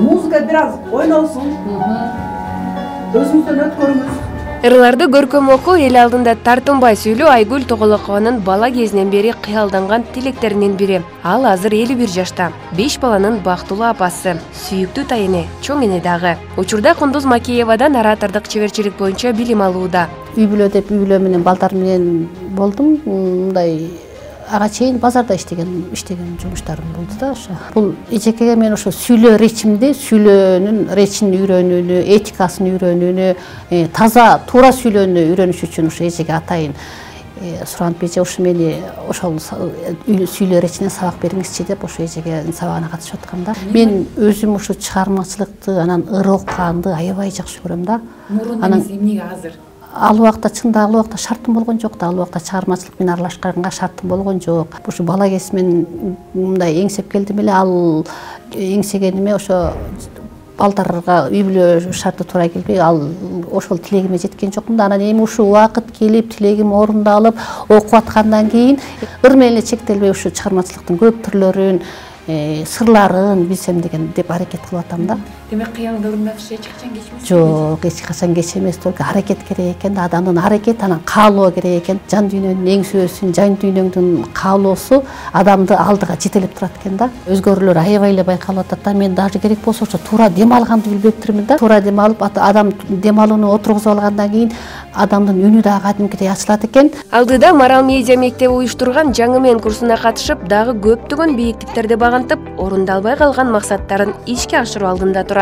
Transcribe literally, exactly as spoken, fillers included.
Музыка бир аз ойносун. Өзүңүздөн өткөрүңүз. Ырларды көркөм окуу, эл алдында тартынбай сүйлөө Айгүл Тоголокованын бала кезинен бери кыялданган тилектеринин бири. Ал азыр элүү бир жашта. беш баланын бактылуу апасы, сүйүктүү тайыны, чоң эне дагы. Учурда Кундуз Макеевадан оратордук чеберчилик боюнча билим алууда. Үй бүлө деп үй бүлө менен балдар менен болдум. Мындай ага чейин базарда иштеген иштеген жумуштарым болду да ошо. Бул эжекеге мен ошо сүйлөө речимди, сүйлөөнүн речин үйрөнүүнү, этикасын үйрөнүүнү, таза туура сүйлөөнү үйрөнүш үчүн ошо эжеге атайын суранып эже ушу мени ошол сүйлөө речинен сабак бериңизчи деп ошо эжеге сабагына катышып аткам да. Мен өзүм ушу чыгармачылыкты, анан ыр окуганды аябай жакшы көрөм да. Анан эмнеге азыр? Ал убакта чында ал убакта шартым болгон жок да. Ал убакта чыгармачылык менен аралашканга шартым болгон жок. Ушу бала кезимен мындай эңсеп келдим эле. Ал эңсегениме ошо балдарга үй бүлө шарты туура келбей, ал ошол тилегиме жеткен жокмун да. Анан эми ушул убакыт келип, тилегим орундалып, окуп аткандан кийин ыр менен эле чектелбей ушу чыгармачылыктын көп түрлөрүн, сырларын билсем деген деп аракет кылып атам да. Демек кыялыңды орундаткыч эч качан кечмесиз? Жок, эч качан кеч эмес, только аракет керек экен да, адамдын аракет, анан каалоо керек экен. Жан дүйнөнүн эң сөзүн, жан дүйнөңдүн каалоосу адамды алдыга жетелеп турат экен да. Өзгөрүүлөр аябай эле байкалып атат да. Мен даже керек болсо ошо туура дем алганды билбептирмин да. Туура дем алып, адам дем алууну отургузуп алгандан кийин адамдын үнү дагы кадимкидей ачылат экен. Алдыда Марал медиа мектеби уюштурган жаңы мен курсуна катышып, дагы көптөгөн бийиктиктерди багантып, орундалбай калган максаттарын ишке ашыруу алдында турат.